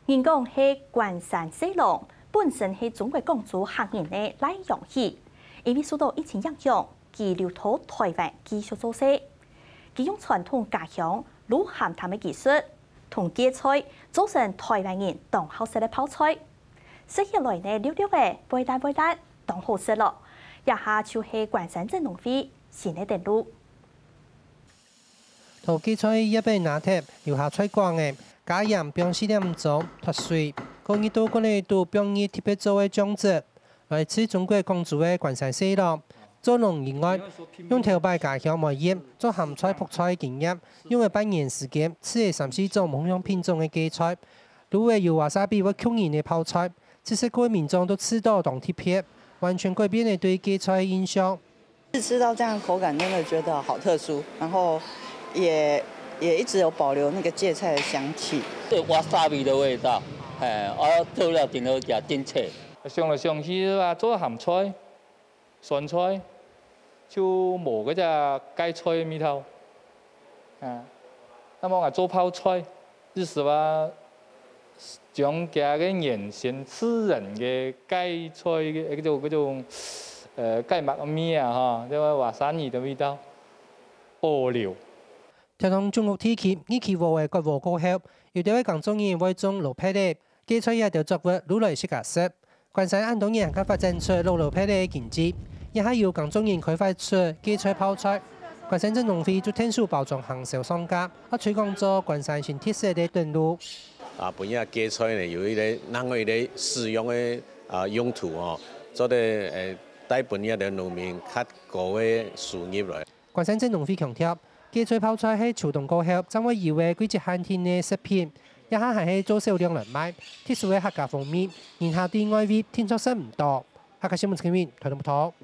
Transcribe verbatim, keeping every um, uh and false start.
人講係關山細郎，本身係中國廣州客人个賴陽喜，因為受到疫情影響，佢留到臺灣繼續做事。佢用傳統家鄉滷鹹淡个技術，同芥菜做成臺灣人當好食个泡菜。食起來呢，溜溜仔，會辣會辣，當好食咯。這下就係關山鎮農會新个登錄。 同芥菜葉仔拿忒，留下菜梗仔，加鹽放四點鐘，脫水，過日到罐仔肚放入特別做个醬汁，來自中國廣州个關山細郎。做農以外，用頭擺家鄉梅葉做鹹菜、覆菜經驗，用了半年時間，試了三四種無共樣品種个芥菜，滷了有瓦薩比會吸引人个泡菜，試食過个民眾都試著當特別，完全改變了對芥菜个印象。 吃到這樣的口感，真的覺得好特殊，然後也也一直有保留那個芥菜的香氣。有瓦薩比的味道，哎，啊，做了頂好食，真脆。想來想去啊，做鹹菜、酸菜，就無該隻芥菜个味道。啊，那麼𠊎做泡菜，意思話，將佢个原先自然个芥菜个該種該種，呃，芥末个味啊，哈，這個瓦薩比的味道。 保留。條東中國地區，二期禾仔割禾過後，有兜个耕作人會種蘿蔔仔、芥菜這兜作物滷來自家食。關山恁多年還較發展出滷蘿蔔仔个經濟，也還有耕作人開發出芥菜泡菜。關山鎮農會就𢯭手包裝行銷上架，也推廣做關山新特色个等路。啊，分這芥菜呢有一個另外一個使用个啊用途哦，做得誒帶分這兜農民較高个收入來。 關山鎮農會強調，芥菜泡菜係秋冬過後正會有个季節限定个食品，這下還係做少量來賣，特殊个客家風味，人客對外圍定著食毋著。客家新聞陳明，台東報導。